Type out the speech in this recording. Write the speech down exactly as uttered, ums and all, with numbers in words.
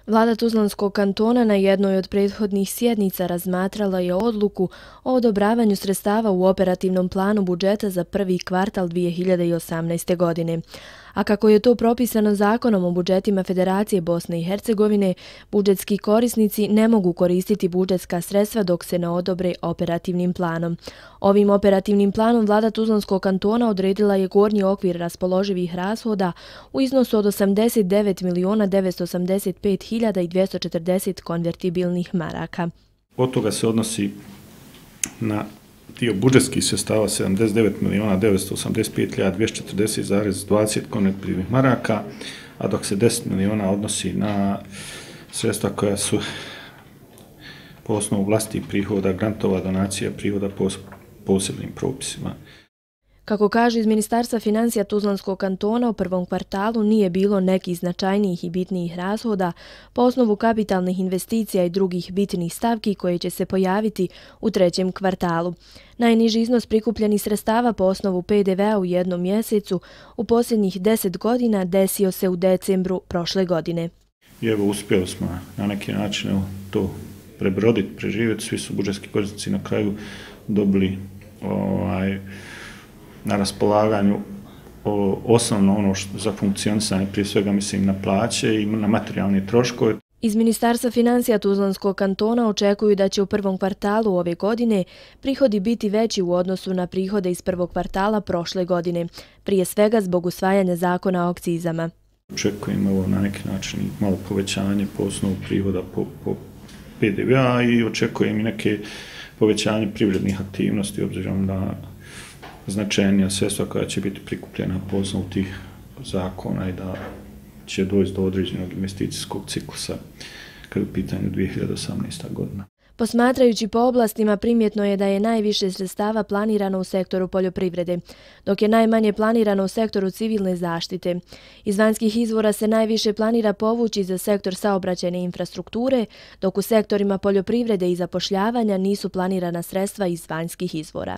Vlada Tuzlanskog kantona na jednoj od prethodnih sjednica razmatrala je odluku o odobravanju sredstava u operativnom planu budžeta za prvi kvartal dvije hiljade osamnaeste. godine. A kako je to propisano zakonom o budžetima Federacije Bosne i Hercegovine, budžetski korisnici ne mogu koristiti budžetska sredstva dok se ne odobre operativnim planom. Ovim operativnim planom Vlada Tuzlanskog kantona odredila je gornji okvir raspoloživih rashoda u iznosu od osamdeset devet miliona devetsto osamdeset pet hiljada dvjesto četrdeset konvertibilnih maraka. Od toga se odnosi na dio budžetskih sredstava sedamdeset devet miliona devetsto osamdeset pet hiljada dvjesto četrdeset zarez dvadeset konvertibilnih maraka, a dok se deset miliona odnosi na sredstva koja su po osnovu vlastitih prihoda, grantova, donacija, prihoda po posebnim propisima. Kako kaže iz Ministarstva financija Tuzlanskog kantona, u prvom kvartalu nije bilo nekih značajnijih i bitnijih rashoda po osnovu kapitalnih investicija i drugih bitnih stavki koje će se pojaviti u trećem kvartalu. Najniži iznos prikupljenih sredstava po osnovu P D V-a u jednom mjesecu u posljednjih deset godina desio se u decembru prošle godine. I evo, uspjeli smo na neki način evo, to prebroditi, preživjeti. Svi su budžetski korisnici na kraju dobili ovaj, na raspolaganju o, osnovno ono što za funkcionisanje, prije svega mislim na plaće i na materijalne troškove. Iz Ministarstva financija Tuzlanskog kantona očekuju da će u prvom kvartalu ove godine prihodi biti veći u odnosu na prihode iz prvog kvartala prošle godine, prije svega zbog usvajanja zakona o akcizama. Očekujemo ovo na neki način malo povećanje po osnovu prihoda po, po P D V-a i očekujem i neke povećanje privrednih aktivnosti obzirom na značajnija sredstva koja će biti prikupljena po osnovu tih zakona i da će doći do određenog investicijskog ciklusa kada je u pitanju dvije hiljade osamnaesta. godina. Posmatrajući po oblastima, primjetno je da je najviše sredstava planirano u sektoru poljoprivrede, dok je najmanje planirano u sektoru civilne zaštite. Iz vanjskih izvora se najviše planira povući za sektor saobraćajne infrastrukture, dok u sektorima poljoprivrede i zapošljavanja nisu planirana sredstva iz vanjskih izvora.